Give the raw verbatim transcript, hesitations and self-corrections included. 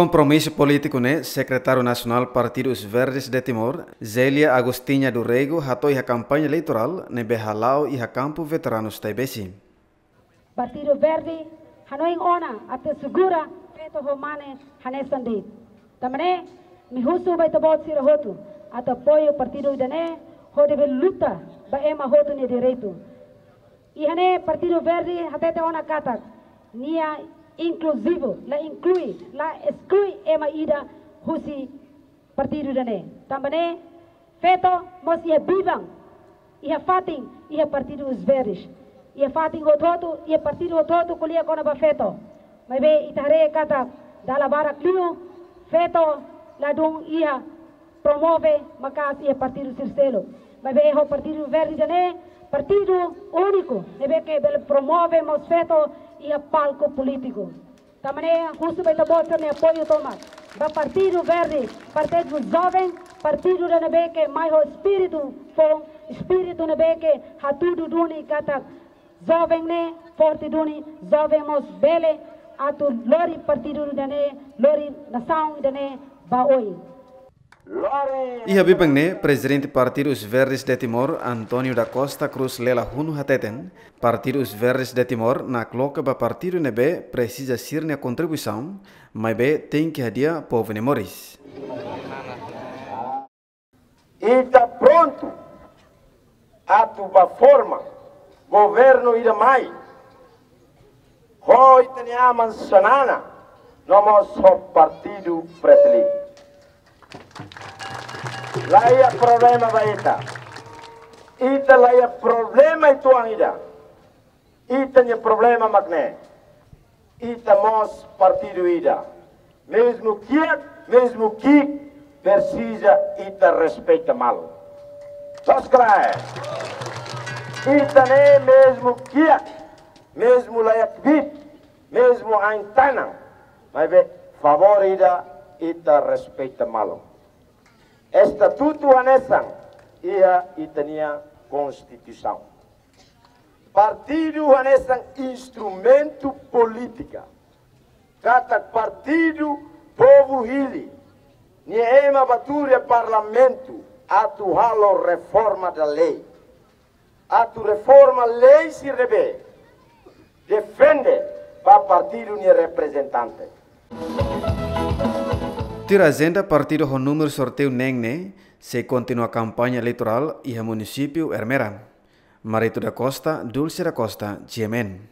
Kompromisu polítiku ne'e, Sekretáriu Nasionál Partidu Os Verdes de Timor, Zélia Agostinha do Rego, hato'o iha kampaña eleitorál ne'ebé hala'o iha kampu veteranus Taibesi. Partidu Verde hanoin ona atu asegura feto ho mane hanesan de'it. Tanba ne'e, imi husu ba ita-boot sira hotu atu apoiu partidu ida-ne'e hodi bele luta ba ema hotu nia direitu. Iha ne'e Partidu Verde hatete ona katak nia inkluzivu, la inklui, la esklui ema ida husi partidu ida-ne'e. Tanba ne'e, feto mós iha biban, iha fatin, iha Partidu Os Verdes. Iha fatin hotu-hotu, iha partidu hotu-hotu ko'alia kona-ba feto. Maibé ita haree katak dala barak liu, feto ladún iha promove maka'as iha partidu sira seluk. Maibé ho Partidu Verde ida-ne'e, partidu úniku ne'ebé ke bele promove mós feto iha palku polítiku. Tanba ne'e husu ba ita-boot sira-nia apoiu tomak ba Partidu Verde, partidu joven, partidu ida ne'ebé ke mai ho espíritu foun, espíritu ne'ebé ke hatudu duni katak joven ne'e forte duni, joven mós bele atu lori partidu ida-ne'e, lori nasaun ida-ne'e ba oin. Iha biban ne'e, Prezidente Partidu Os Verdes de Timor, António da Costa Cruz Lela Hunu hateten, Partidu Os Verdes de Timor nakloke ba partidu ne'ebé presiza sira-nia kontribuisaun, maibé tenke hadi'a povu nia moris. Ita prontu atu ba forma governu ida mai ho ita-nia aman Xanana, no mós ho partidu Fretilin. La iha problema ba ita. Ita la iha problema uitoan ida. Ita-nia problema mak ne'e. Ita mós partidu ida. Mezmu kiak, mezmu ki'ik, presiza ita respeita malu. Loos ka lae? Ita ne'e mezmu kiak, mezmu laiha kbiit, mezmu ain-tanan. Maibé favór ida, ita respeita malu. Estatutu hanesan iha ita-nia Konstituisaun. Partidu hanesan instrumentu polítika. Katak partidu povu hili, nia ema bá tuur iha Parlamentu atu halo reforma da lei. Atu reforma lei sira ne'ebé defende ba partidu nia reprezentante. Tuir ajenda, partidu ho númeru sorteiu neen ne'e sei kontinua kampaña eleitorál iha munisípiu Ermera. Marito da Costa, Dulce da Costa, G M N.